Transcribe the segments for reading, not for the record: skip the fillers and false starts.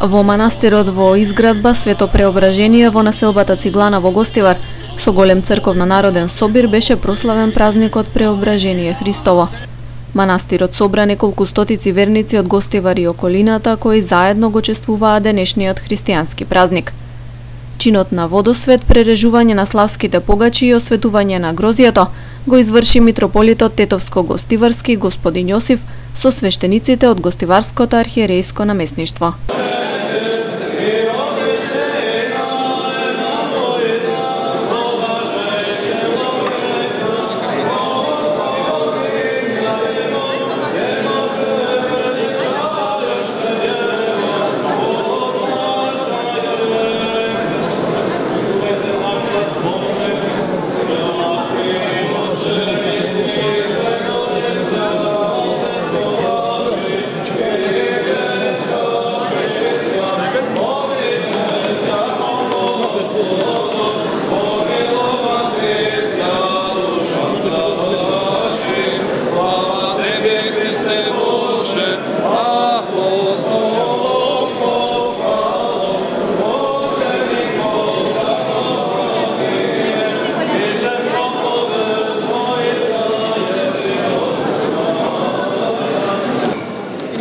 Во манастирот во изградба Свето Преображение во населбата Циглана во Гостивар, со голем црковно-народен собир беше прославен празникот Преображение Христово. Манастирот собра неколку стотици верници од Гостивар и околината кои заедно го чествуваа денешниот христијански празник. Чинот на водосвет, прережување на славските погачи и осветување на грозијето го изврши митрополитот Тетовско-Гостиварски господин Јосиф со свештениците од Гостиварското архиерејско наместништво.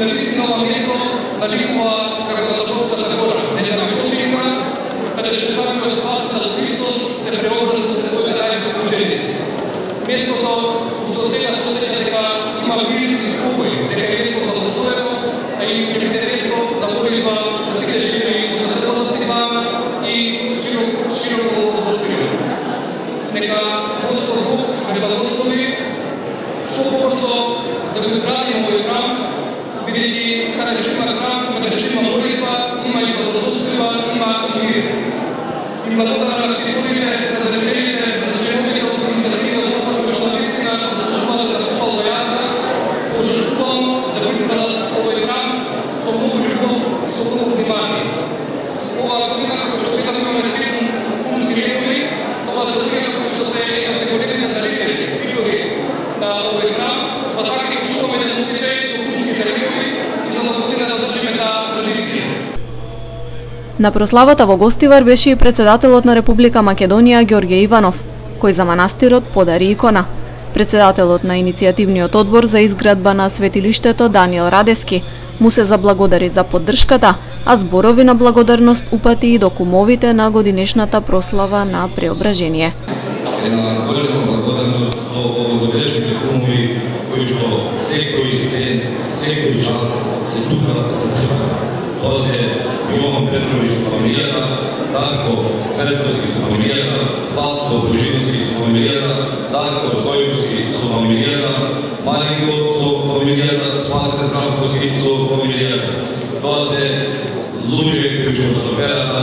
Наистина ова место наликува како Католската гора, една случајка каде чествањето Спасител Христос се преобрази пред своите најблиски ученици. Местото што сега сосеќа дека има мир и спокој, дека е место благословено, а и ќе биде место за молитва на сите жители од населбата Циглана и широко Гостивар. Нека Господ Бог ме благослови што побрзо да го изградиме овој храм, бидејќи каде ќе има храм, каде ќе има молитва, има и благосостојба, има и мир. И благодарам на активите, на делегатите, на членовите од иницијативата кои што наистина заслужуваат да купат лојата, пожртвувано да го изградат овој храм со многу љубов и со многу внимание. Оваа година кој што имаме 7 кумски лекови, ова се кои што се категориите дарители, титули на овој храм, па така и што мене навичај со кумските лекови и за да година да држиме таа традиција. На прославата во Гостивар беше и председателот на Република Македонија Ѓорѓе Иванов, кој за манастирот подари икона. Председателот на иницијативниот одбор за изградба на светилиштето Даниел Радески му се заблагодари за поддршката, а зборови на благодарност упати и до кумовите на годинешната прослава на Преображение. Една голема благодарност до овогодишните кумови кои што секој ден, секој час се тука за црква. Тоа се Јован Петрович со фамилијата, Дарко Цветковски со фамилијата, Владко Божиновски со фамилијата, Дарко Стојковски со фамилијата, Маринко со фамилијата, Спасе Здравковски со фамилијата. Тоа се луѓе кои што со верата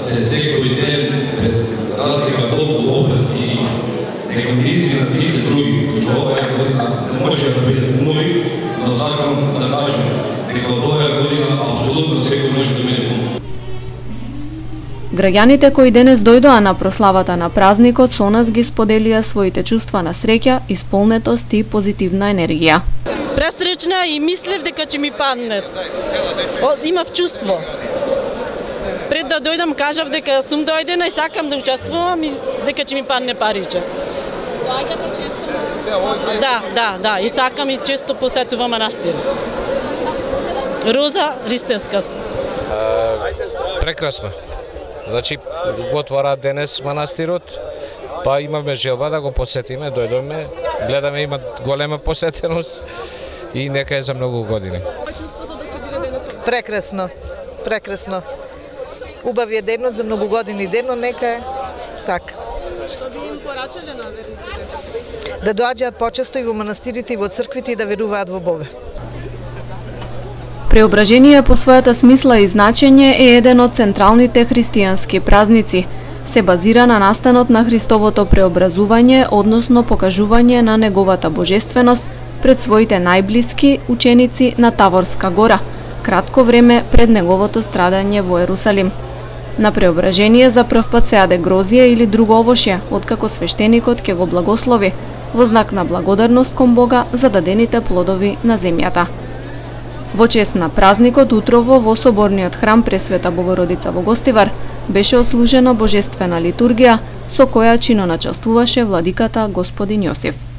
се секој ден без разлика колку обрски има. Нека ми извинат сите други кои што оваа година не можеја да бидат кумови, но сакам да кажам дека од оваа година апсолутно секој може да биде кум. Граѓаните кои денес дојдоа на прославата на празникот со нас ги споделија своите чувства на среќа, исполнетост и позитивна енергија. Пресречна и мислев дека ќе ми падне. Имав чувство. Пред да дојдам кажав дека сум дојдена и сакам да учествувам и дека ќе ми падне париче. Доаѓате често? Да, и сакам и често посетувам манастир. Роза Ристевска. Прекрасно. Значи, го отвара денес манастирот, па имаме желба да го посетиме, дојдоме, гледаме има голема посетеност и нека е за многу години. Прекрасно, прекрасно. Убави е денот за многу години денот, нека е така. Што би им порачале на верниците? Да доаѓаат почесто и во манастирите и во црквите и да веруваат во Бога. Преображение по својата смисла и значење е еден од централните христијански празници. Се базира на настанот на Христовото преобразување, односно покажување на неговата божественост пред своите најблиски ученици на Таворска гора, кратко време пред неговото страдање во Ерусалим. На преображение за прв пат се јаде грозија или друго овошје, откако свештеникот ќе го благослови, во знак на благодарност кон Бога за дадените плодови на земјата. Во чест на празникот утрово во соборниот храм Пресвета Богородица во Гостивар беше отслужена божествена литургија со која чиноначествуваше владиката Господин Јосиф.